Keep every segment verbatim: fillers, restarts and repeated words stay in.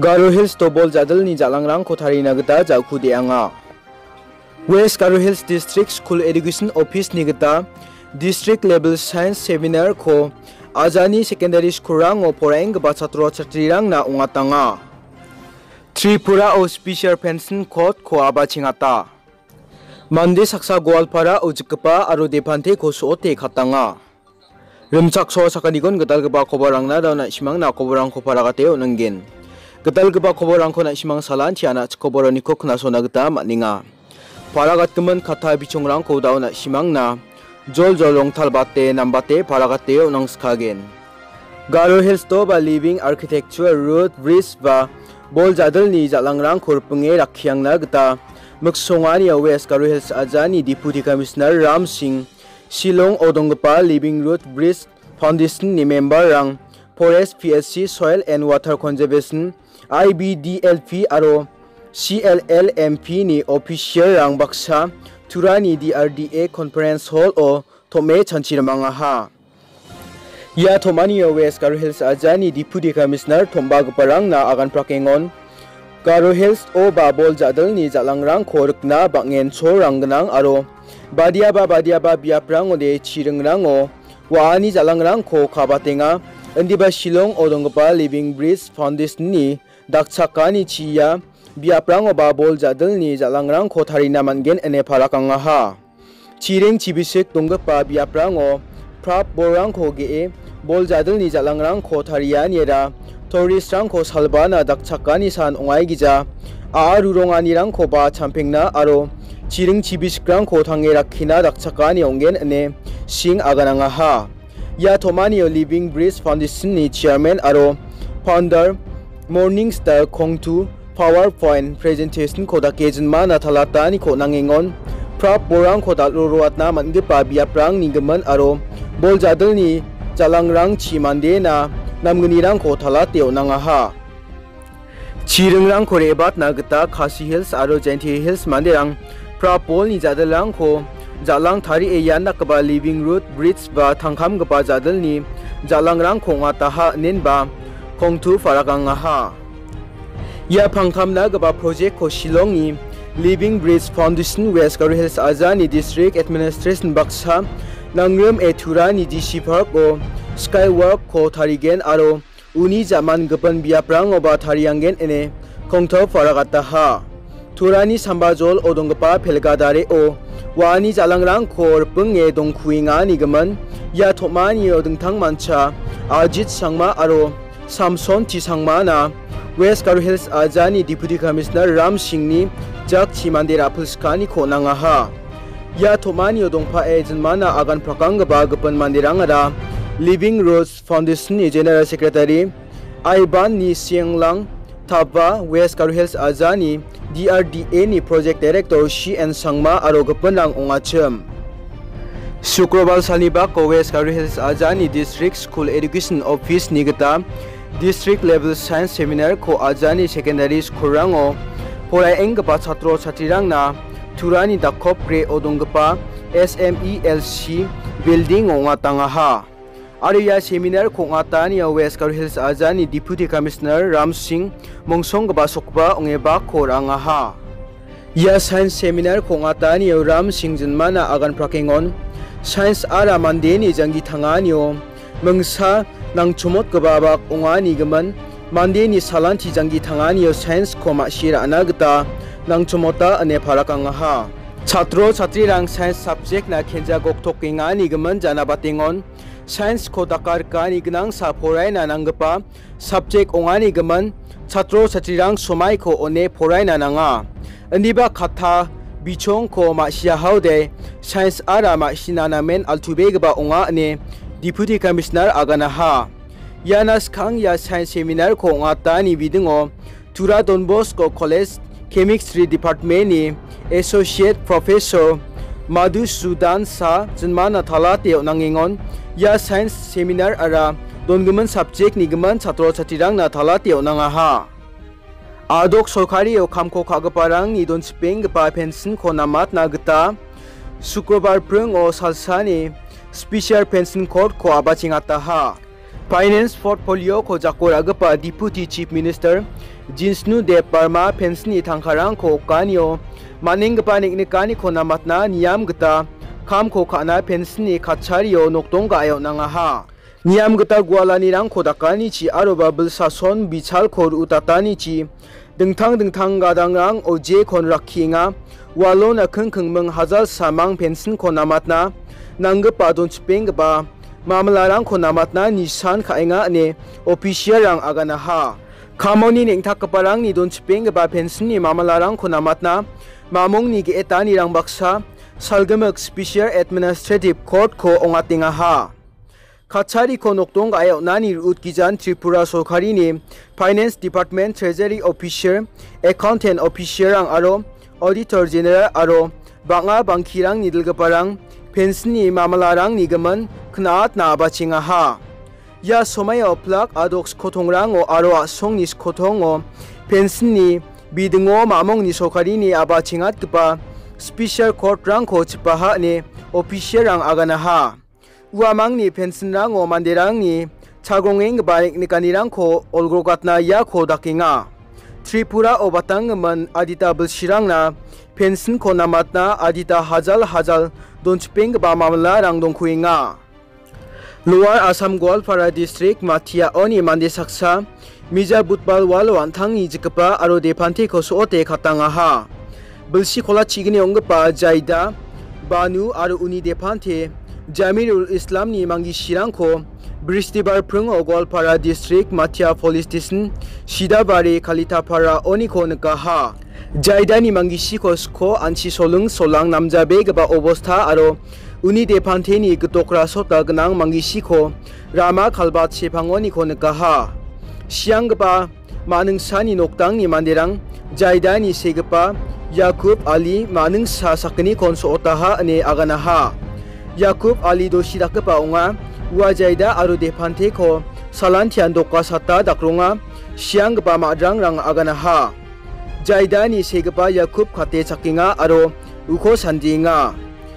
Garo Hills-o bol jadilni jal·angrangko tarina gita ja·kudeanga. West Garo Hills District School Education Office-ni gita District Level Science Seminar-ko ajani secondary school-rango poraenggipa chatro chatrirangna ong·atanga. Tripura-o Special Pension Code-ko a·bachengata. Mande saksa Goalpara-o jikgipa aro depanteko so·ote katanga. Rimchaksoa sakanigon gitalgipa kobarangna da·o na·simangna koborangko paragate on·ningen. Gitalgipa koborangko na·simang salanti ana chikoboroniko knasona gita man·enga. Paragatgimin katta bichongrangko da·o na·simangna joljol rongtalbate nambate paragate on·angskagen. Garo Hills-o ba Living Architecture Root Bridge ba bol jadilni jal·angrangko ripinge rakkiangna gita miksonganio West Garo Hills ajani Deputy Commissioner Ram Singh, Shillong-o donggipa Living Root Bridge Foundation-ni member-rang, Forest P S C, Soil and Water Conservation, I B D L P aro C L L M P-ni official-rang baksa Turani D R D A Conference Hall-o tom·e chanchi rimangaha. Ia tom·anio West Garo Hills ajani Deputy Commissioner tom·bagiparangna agan prakengon. Garo Hills-o ba bol jadilni jal·angrangko rikna bang·en cholrang gnang aro badiaba badiaba biaprangode chiringrango wa·ani jal·angrangko kabatenga. Indiba Shillong-o donggipa Living Bridge Foundation-ni dakchakani chia biaprangoba bol jadilni jal·angrangko tarina man·gen ine parakangaha. Chiring chibisik donggipa biaprango prap bolrangko ge·e bol jadilni jal·angrangko tarianiera tourist-rangko salbana dakchakani san ong·aigija a·a ruronganirangkoba champengna aro chiring chibisikrangko tange rakkina dakchakani ong·gen ine Singh aganangaha. Ia tom·anio Living Bridge Foundation-ni chairman aro founder Morning Star Kongtu PowerPoint presentation-ko dake jinmana talataniko nangengon. Prap bolrangko dal·o roatna man·gipa biaprangni gimin aro bol jadilni jal·angrangchi mandena namgnirangko talate on·angaha. Chiringrangko re·batna gita Khasi Hills aro Jaintia Hills manderang prap bolni jadilrangko jal·ang tarie ian dakgipa Living Root Bridge ba tangkamgipa jadilni jal·angrangko ong·ataha inenba Kongtu parakangaha. Ia pangkamna gipa project-ko Shillongni Living Bridge Foundation West Garo Hills ajani District Administration baksa nangrim e Turani D C Park-o Skywork-ko tarigen aro uni ja·man gipin biaprangoba tarianggen ine Kongtu paragataha. Turani sambajol odonggipa pelgadareo wa·ani jal·angrangko ripinge dongkuengani gimin ia tom·anio dingtangmancha Ajit Sangma aro Samson T Sangmana West Garo Hills ajani Deputy Commissioner Ram Singhni jakchi mande ra·pilsikaniko nangaha. Ia tom·anio dongpae jinmana agan prakanggipa gipin manderangara Living Root Foundation-ni General Secretary Aiban Ni Sianglang, Taba West Garo Hills ajani D R D A-ni Project Director C N Sangma aro gipinrang ong·achim. Sukrobar salni bako West Garo Hills ajani District School Education Office-ni gita District Level Science Seminar-ko ajani secondary school-rango poraenggipa chatro chatrirangna Turani dakopgreo donggipa S M E L C building-o ong·atangaha. Aro ia seminar-ko ong·atanio West Garo Hills ajani Deputy Commissioner Ram Singh mongsonggipa sokgipa ong·e bakko ra·angaha. Ia science seminar-ko ong·atanio Ram Singh jinmana agan prakengon. Science-ara mandeni janggi tanganio mingsa nangchomotgipa bak ong·ani gimin, mandeni salanti janggi tanganio science-ko ma·si ra·na gita nangchomota ine parakangaha. Chatro chatrirang science subject-na kenja goktokengani gimin janabatengon. Science-ko dakarikani gnangsa poraina nanggipa subject ong·ani gimin chatro chatrirang somaiko one poraina nanga. Indiba katta bichongko ma·siahaode science-ara ma·sina namen altubegipa ong·a ine Deputy Commissioner aganaha. Iana skang ia science seminar-ko ong·atani bidingo Tura Don Bosco College Chemistry Department-ni Associate Professor Madhusudan Shah jinmana talate on·angengon. Ia science seminar-ara dongimin subject-ni gimin chatro chatrirangna talate on·angaha. A·dok sorkario kamko ka·giparangni donchipenggipa pension-ko namatna gita Sukrobar pringo salsani Special Pension Code-ko a·bachengataha. Finance portfolio-ko jako ra·gipa Deputy Chief Minister Jinsnu Deb Barma pension-ni tangkarangko okanio man·enggipa neng·nikaniko namatna niam gita kamko ka·na pension-ni katchario nokdong ga·e on·angaha. Niam gita gualanirangko dakanichi aroba bilsason bichalko ru·utatanichi dingtang dingtang gadangrang O J-kon rakkienga. Ualona kingkingming hajal samang pension-ko namatna nanggipa donchipenggipa mamalarangko namatna nisan ka·enga ine official-rang aganaha. Kamoni neng·takgiparangni donchipenggipa pension-ni mamalarangko namatna mamongni ge·etanirang baksa salgimik Special Administrative Court-ko ong·atengaha. Katchariko nokdong ga·e on·ani ru·utgijan Tripura sorkarini Finance Department, Treasury Officer, Accountant Officer-rang aro Auditor General aro bang·a bangkirangni dilgiparang pension-ni mamalarangni gimin kna·atna abachengaha. Ia somaio plak adok skotongrango aro a·songni skotongo pension-ni bidingo mamongni sorkarini abachengatgipa Special Court-rangko chipaha ine official-rang aganaha. Uamangni pension-rango manderangni chagrongenggipa neng·nikanirangko olgrokatna iako dakenga. Tripurao batanggimin adita bilsirangna pension-ko namatna adita hajal hajal donchipenggipa mamalarang dongkuenga. Lower Assam Goalpara District Mathiaoni mande saksa mija Budbal walo an·tangni jikgipa aro depanteko so·ote katangaha. Bilsi kola chigni ong·gipa Jaida, Banu aro uni depante Jamirul Islamni manggisirangko Bristibar pringo Goalpara District Mathia Police Station, Sidabari, Kalitapara oniko nikaha. Jaidani manggisiko sko anchi soling solang namjabegipa obosta aro uni depanteni gitok rasota gnang manggisiko rama kalbat sepangoniko nikaha. Sianggipa ma·ningsani nokdangni manderang Jaidani segipa Yakub Ali ma·ningsa sakgnikon so·otaha ine aganaha. Yakub Ali dosi dakgipa ong·a. Ua Jaida aro depanteko salantian dokasata dakronga sianggipa ma·drangrango aganaha. Jaidani segipa Yakub kate chakenga aro uko sandienga.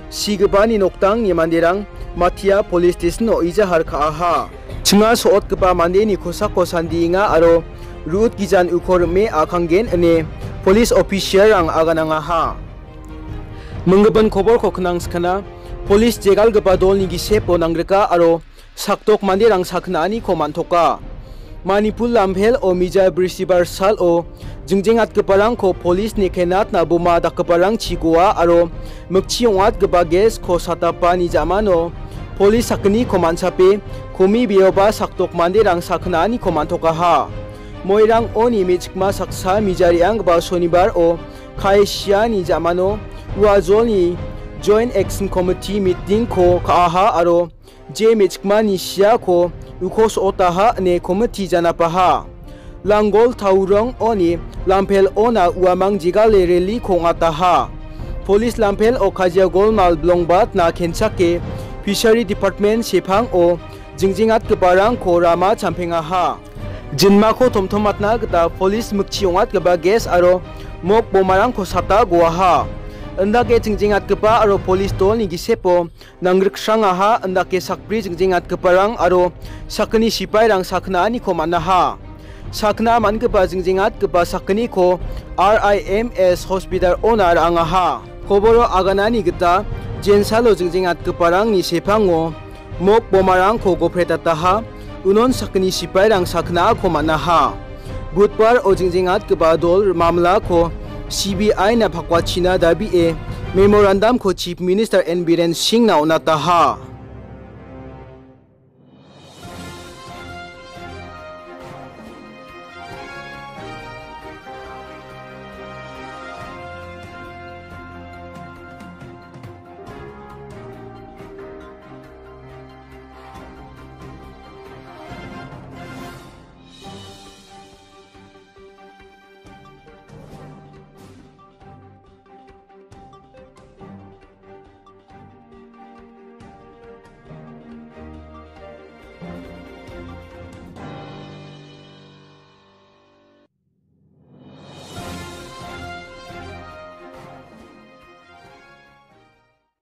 Sigipani nokdangni manderang Mathia Police Station-o ijahar ka·aha. Chinga so·otgipa mandeni kosako sandienga aro ru·utgijan uko rim·e a·kanggen ine police official-rang aganangaha. Minggipin koborko knangskana, police jegalgipa dolni gisepo nangrika aro sakdok manderang sakgni·aniko man·toka. Manipur Lamphel-o mija Bristibar salo jingjengatgiparangko polisni kenatna boma dakgiparangchi goa aro mikchi ong·atgipa gas-ko satapani ja·mano polis sakgniko man·chape komi beoba sakdok manderang sakgni·aniko man·tokaha. Moirang oni me·chikma saksa mija re·anggipa Sonibar-o kae siani ja·mano ua jolni Joint Action Committee meeting-ko ka·aha aro je me·chikmani siako uko so·otaha ine komiti janapaha. Langgol Taurong oni Lamphel ona uamang jegale rally-ko ong·ataha. Polis Lamphel-o kajia golmal bilongbatna kenchake Fishery Department sepango jingjengatgiparangko rama champengaha. Jinmako tomtomatna gita polis mikchi ong·atgipa gas aro mok bomarangko sata goaha. Indake jingjengatgipa aro polis dolni gisepo nangriksrangaha, indake sakbri jingjengatgiparang aro sakgni sipairang sakgni·aniko man·aha. Sakgni·a man·gipa jingjengatgipa sakgniko R I M S hospital-ona ra·angaha. Koboro aganani gita jensalo jingjengatgiparangni sepango mok bomarangko gopretataha, unon sakgni sipairang sakgni·ako man·aha. Budbaro jingjengatgipa dol mamlako C B I-na pakwachina dabie memorandum-ko Chief Minister N Biren Singh-na on·ataha.